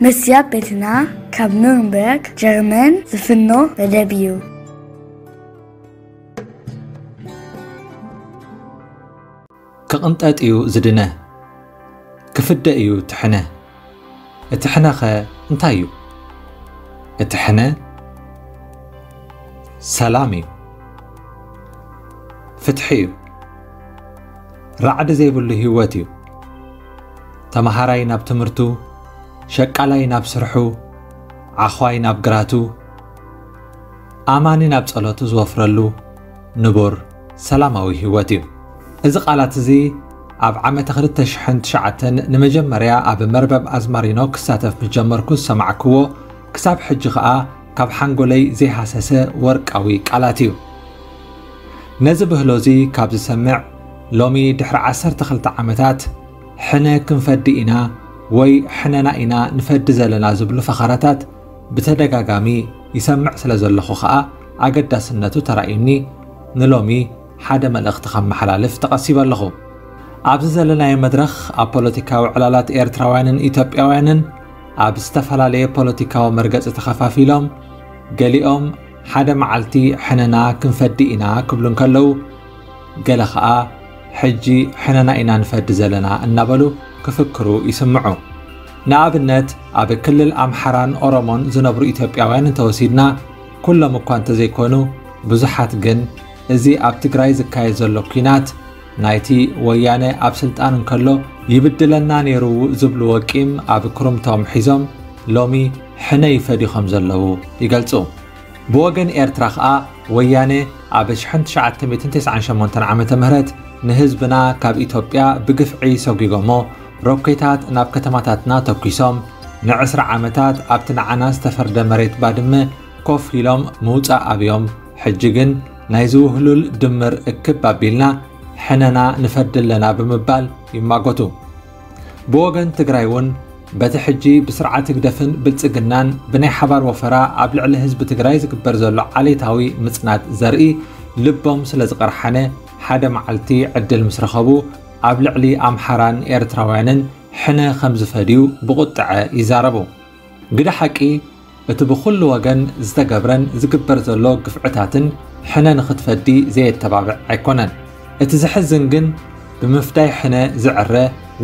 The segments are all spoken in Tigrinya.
መስያ ቤትና ካብ ኑርንበርግ ጀርመን ዝፍኖ መደብ እዩ። ክቕንጠጥ እዩ ዝድነ፣ ክፍደ እዩ እቲ ሕነ። እቲ ሕነኸ እንታይ እዩ? እቲ ሕነ ሰላም እዩ፣ ፍትሒ እዩ፣ ራዕዲ ዘይብሉ ህይወት እዩ። ተመሃራይ ናብ ትምህርቱ፣ ሸቃላይ ናብ ስርሑ፣ ዓኽዋይ ናብ ግራቱ፣ ኣማኒ ናብ ጸሎቱ ዝወፍረሉ ንቡር ሰላማዊ ህይወት እዩ። እዚ ቃላት እዚ ኣብ ዓመተ ክልተ ሽሕን ትሽዓተን ንመጀመርያ ኣብ መርበብ ኣዝማሪኖ ክሳተፍ ምስ ጀመርኩ ዝሰማዕክዎ፣ ክሳብ ሕጂ ኸኣ ካብ ሓንጎለይ ዘይሃሰሰ ወርቃዊ ቃላት እዩ። ነዚ ብህሎ እዚ ካብ ዝሰምዕ፣ ሎሚ ድሕሪ ዓሰርተ ክልተ ዓመታት ሕነ ክንፈዲ ኢና ወይ ሕነና ኢና ንፈዲ ዘለና ዝብሉ ፈኸራታት ብተደጋጋሚ ይሰምዕ ስለ ዘለኹ ኸኣ ኣገዳስነቱ ተራእዩኒ ንሎሚ ሓደ መልእኽቲ ከመሓላልፍ ተቐሲበ ኣለኹ። ኣብዚ ዘለናዮ መድረኽ ኣብ ፖለቲካዊ ዕላላት ኤርትራውያንን ኢትዮጵያውያንን ኣብ ዝተፈላለየ ፖለቲካዊ መርገጺ ተኸፋፊሎም፣ ገሊኦም ሓደ መዓልቲ ሕነና ክንፈዲ ኢና ክብሉ እንከለዉ፣ ገለ ኸኣ ሕጂ ሕነና ኢና ንፈዲ ዘለና እናበሉ ክፍክሩ ይስምዑ። ንኣብነት ኣብ ክልል ኣምሓራን ኦሮሞን ዝነብሩ ኢትዮጵያውያን እንተወሲድና፣ ኩሎም እኳ እንተዘይኮኑ ብዙሓት ግን እዚ ኣብ ትግራይ ዝካየድ ዘሎ ኲናት ናይቲ ወያነ ኣብ ስልጣን እንከሎ ይብድለና ነይሩ ዝብልዎ ቂም ኣብ ክሩምቶም ሒዞም ሎሚ ሕነ ይፈድዩ ከም ዘለዉ ይገልጹ። ብወገን ኤርትራ ኸኣ ወያነ ኣብ ሽሕን ትሽዓተ ሚእትን ተስዓን ሸሞንተን ዓመተ ምህረት ንህዝብና ካብ ኢትዮጵያ ብግፍዒ ሰጒጎሞ ሮኬታት ናብ ከተማታትና ተኲሶም ንዕስራ ዓመታት ኣብቲ ንዓና ዝተፈርደ መሬት ባድመ ኮፍ ኢሎም ምውጻእ ኣብዮም ሕጂ ግን ናይዚ ውህሉል ድምር እክብ ኣቢልና ሕነና ንፈዲ ኣለና ብምባል ይማጎቱ። ብወገን ትግራይ እውን በቲ ሕጂ ብስርዓት ህግደፍን ብልጽግናን ብናይ ሓባር ወፈራ ኣብ ልዕሊ ህዝቢ ትግራይ ዝግበር ዘሎ ዓሌታዊ ምጽናት ዘርኢ ልቦም ስለ ዝቐርሓነ ሓደ መዓልቲ ዕድል ምስ ረኸቡ ኣብ ልዕሊ ኣምሓራን ኤርትራውያንን ሕነ ከም ዝፈድዩ ብቑጥዐ ይዛረቡ። ግደ ሓቂ እቲ ብኹሉ ወገን ዝተገብረን ዝግበር ዘሎ ግፍዕታትን ሕነ ንኽትፈዲ ዘየተባብዕ ኣይኮነን። እቲ ዘሕዝን ግን ብምፍዳይ ሕነ ዝዕረ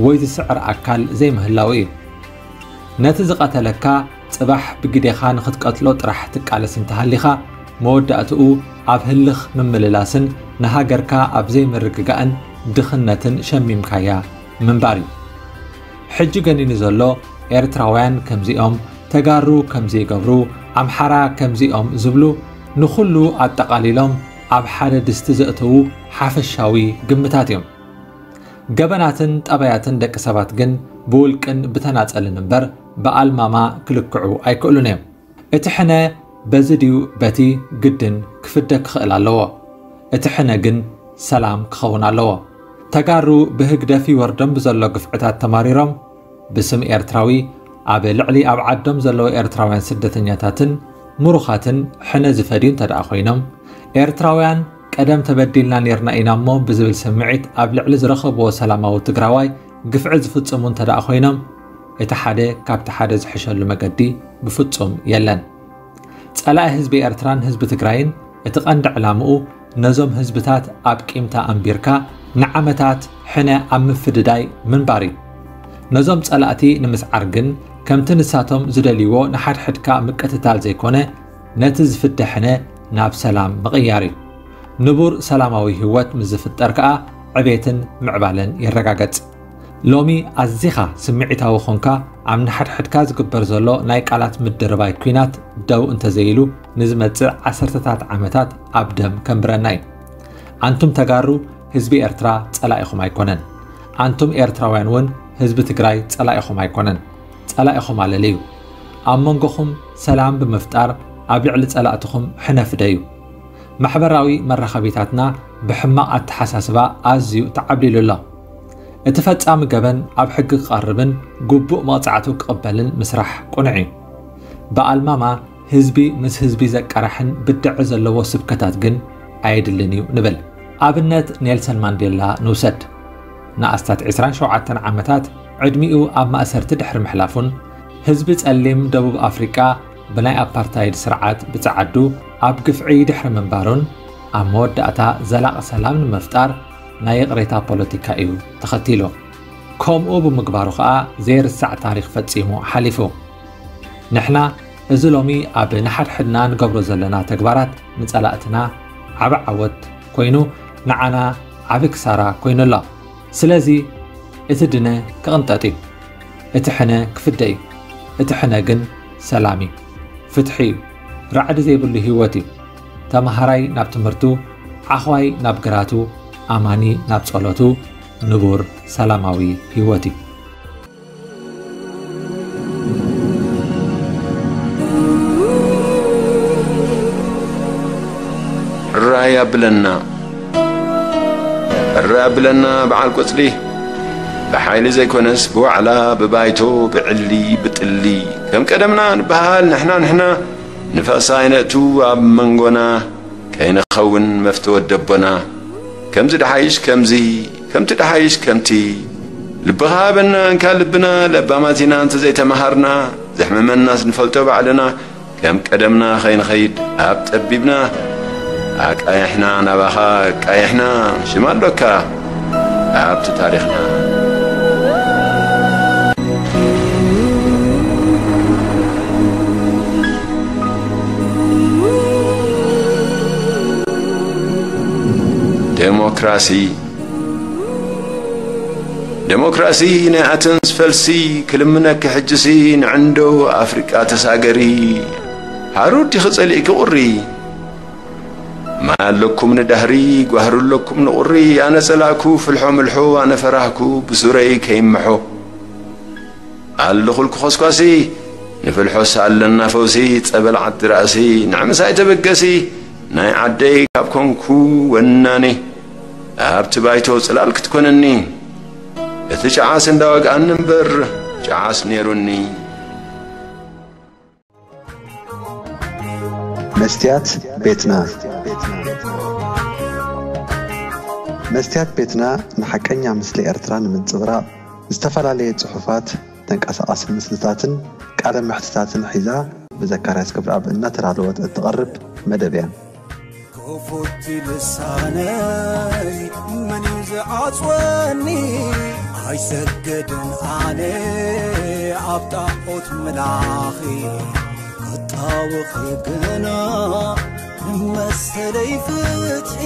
ወይ ዝስዕር ኣካል ዘይምህላው እዩ። ነቲ ዝቐተለካ ጽባሕ ብግዴኻ ንኽትቀትሎ ጥራሕ ትቃለስ እንተሃሊኻ መወዳእትኡ ኣብ ህልኽ ምምልላስን ንሃገርካ ኣብ ዘይምርግጋእን ድኽነትን ሸሚምካያ ምንባር እዩ። ሕጂ ገኒኑ ዘሎ ኤርትራውያን ከምዚኦም፣ ተጋሩ ከምዚ ይገብሩ፣ ኣምሓራ ከምዚኦም ዝብሉ ንኹሉ ኣጠቓሊሎም ኣብ ሓደ ድስቲ ዘእተዉ ሓፈሻዊ ግምታት እዮም። ገበናትን ጠባያትን ደቂ ሰባት ግን ብውልቅን ብተናጸልን እምበር ብኣልማማ ክልክዑ ኣይክእሉን እዮም። እቲ ሕነ በዚ ድዩ በቲ ግድን ክፍደ ክኽእል ኣለዎ። እቲ ሕነ ግን ሰላም ክኸውን ኣለዎ። ተጋሩ ብህግደፍ ይወርዶም ብዘሎ ግፍዕታት ተማሪሮም ብስም ኤርትራዊ ኣብ ልዕሊ ኣብ ዓዶም ዘለዉ ኤርትራውያን ስደተኛታትን ምሩኻትን ሕነ ዝፈድዩ እንተ ደኣ ኮይኖም፣ ኤርትራውያን ቀደም ተበዲልና ኔርና ኢና እሞ ብዝብል ስምዒት ኣብ ልዕሊ ዝረኸብዎ ሰላማዊ ትግራዋይ ግፍዒ ዝፍጽሙ እንተ ደኣ ኮይኖም፣ እቲ ሓደ ካብቲ ሓደ ዝሕሸሉ መገዲ ብፍጹም የለን። ጸላኢ ህዝቢ ኤርትራን ህዝቢ ትግራይን እቲ ቀንዲ ዕላምኡ ነዞም ህዝብታት ኣብ ቂምታ ኣንቢርካ ንዓመታት ሕነ ኣብ ምፍድዳይ ምንባር እዩ። ነዞም ጸላእቲ ንምስዓር ግን ከምቲ ንሳቶም ዝደልይዎ ንሓድሕድካ ምቅትታል ዘይኮነ ነቲ ዝፍደ ሕነ ናብ ሰላም ምቕያር እዩ። ንቡር ሰላማዊ ህይወት ምስ ዝፍጠር ከኣ ዕቤትን ምዕባለን ይረጋገጽ። ሎሚ ኣዚኻ ስምዒታዊ ኾንካ ኣብ ንሓድሕድካ ዝግበር ዘሎ ናይ ቃላት ምድርባይ ኲናት ደው እንተዘይሉ ንዝመጽእ ዓሰርተታት ዓመታት ኣብ ደም ከንብረና እዩ። ኣንቱም ተጋሩ ህዝቢ ኤርትራ ጸላኢኹም ኣይኮነን። ኣንቱም ኤርትራውያን እውን ህዝቢ ትግራይ ጸላኢኹም ኣይኮነን። ጸላኢኹም ኣለለዩ። ኣብ መንጎኹም ሰላም ብምፍጣር ኣብ ልዕሊ ጸላእትኹም ሕነ ፍደዩ። ማሕበራዊ መራኸቢታትና ብሕማቕ ኣተሓሳስባ ኣዝዩ ተዓብሊሉ ኣሎ። እቲ ፈጻሚ ገበን ኣብ ሕጊ ክቐርብን ግቡእ መቕጻዕቱ ክቕበልን ምስራሕ ቅኑዕ እዩ። ብኣልማማ ህዝቢ ምስ ህዝቢ ዘቃርሕን ብድዐ ዘለዎ ስብከታት ግን ኣየድልን እዩ ንብል። ኣብነት ኔልሰን ማንዴላ ንውሰድ። ንኣስታት ዕስራን ሸውዓተን ዓመታት ዕድሚኡ ኣብ ማእሰርቲ ድሕሪ ምሕላፉን ህዝቢ ጸሊም ደቡብ ኣፍሪቃ ብናይ ኣፓርታይድ ስርዓት ብጸዓዱ ኣብ ግፍዒ ድሕሪ ምንባሩን ኣብ መወዳእታ ዘላቒ ሰላም ንምፍጣር ናይ ይቕሬታ ፖለቲካ እዩ ተኸቲሉ። ከምኡ ብምግባሩ ኸኣ ዘይርሳዕ ታሪኽ ፈጺሙ ሓሊፉ። ንሕና እዚ ሎሚ ኣብ ንሓድሕድና ንገብሮ ዘለና ተግባራት ንጸላእትና ዓቢ ዓወት ኮይኑ ንዓና ዓቢ ክሳራ ኮይኑ ኣሎ። ስለዚ እቲ ድነ ክቕንጠጥ እዩ። እቲ ሕነ ክፍደ እዩ። እቲ ሕነ ግን ሰላም እዩ። ፍትሒ እዩ። ራዕዲ ዘይብሉ ህይወት እዩ። ተማሃራይ ናብ ትምህርቱ፣ ዓኽዋይ ናብ ግራቱ፣ ኣማኒ ናብ ጸሎቱ፣ ንቡር ሰላማዊ ህይወት እዩ። ራይ ኣብለና ራይ ኣብለና በዓል ቆጽሊ፣ ብሓይሊ ዘይኮነስ ብዋዕላ፣ ብባይቶ፣ ብዕሊ፣ ብጥሊ፣ ከም ቀደምና ንበሃል ንሕና ንሕና፣ ንፋስ ኣይነእቱ ኣብ መንጎና፣ ከይንኸውን መፍተ ወደቦና። ከምዚ ደሓይሽ ከምዚ፣ ከምቲ ደሓይሽ ከምቲ፣ ልብኻ ሃበና እንካ ልብና፣ ለባማት ኢና እንተዘይተመሃርና፣ ዘሕመመናስ ንፈልጦ ባዕልና፣ ከም ቀደምና ከይንኸይድ ኣብ ጠቢብና፣ ኣቃይሕና ናባኻ ኣቃይሕና፣ ሽም ኣሎካ ኣብቲ ታሪኽና። ዴሞክራሲ ዴሞክራሲ ናይ ኣተንስ ፈልሲ፣ ክልምነኪ ሕጅሲ ንዕንዶ ኣፍሪቃ ተሳገሪ። ሓሩር ዲኺ ጸሊእኪ ቁሪ፣ ማይ ኣለኩም ንዳህሪ፣ ጓህሪ ኣለኩም ንቁሪ። ኣነ ጸላእኩ ፍልሖ ምልሖ፣ ኣነ ፈራህኩ ብሱረይ ከይምሖ። ኣለኹልኩ ኾስኳሲ፣ ንፍልሖስ ኣለና ፈውሲ፣ ጸበል ዓዲ ራእሲ፣ ንዕምሳይ ተበገሲ፣ ናይ ዓደይ ካብ ኮንኩ ወናኒ፣ ኣብቲ ባይቶ ጽላል ክትኮነኒ፣ እቲ ጨዓስ እንዳወግኣኒ እምበር፣ ጨዓስ ነይሩኒ። መስትያት ቤትና። መስትያት ቤትና ንሓቀኛ ምስሊ ኤርትራ ንምንጽብራቕ፣ ዝተፈላለየ ጽሑፋት፣ ተንቀሳቓሲ ምስልታትን ቃለ መሕትታትን ሒዛ ብዘካርያስ ክብረኣብ እናተዳለወት እትቐርብ መደብ እያ። ክፉት ልሳነይ መን እዩ ዝዓጽወኒ? ኣይሰግድን ኣነ ኣብ ጣዖት ምላኺ፣ ክጣወኺ ግና ንመሰለይ ፍትሒ።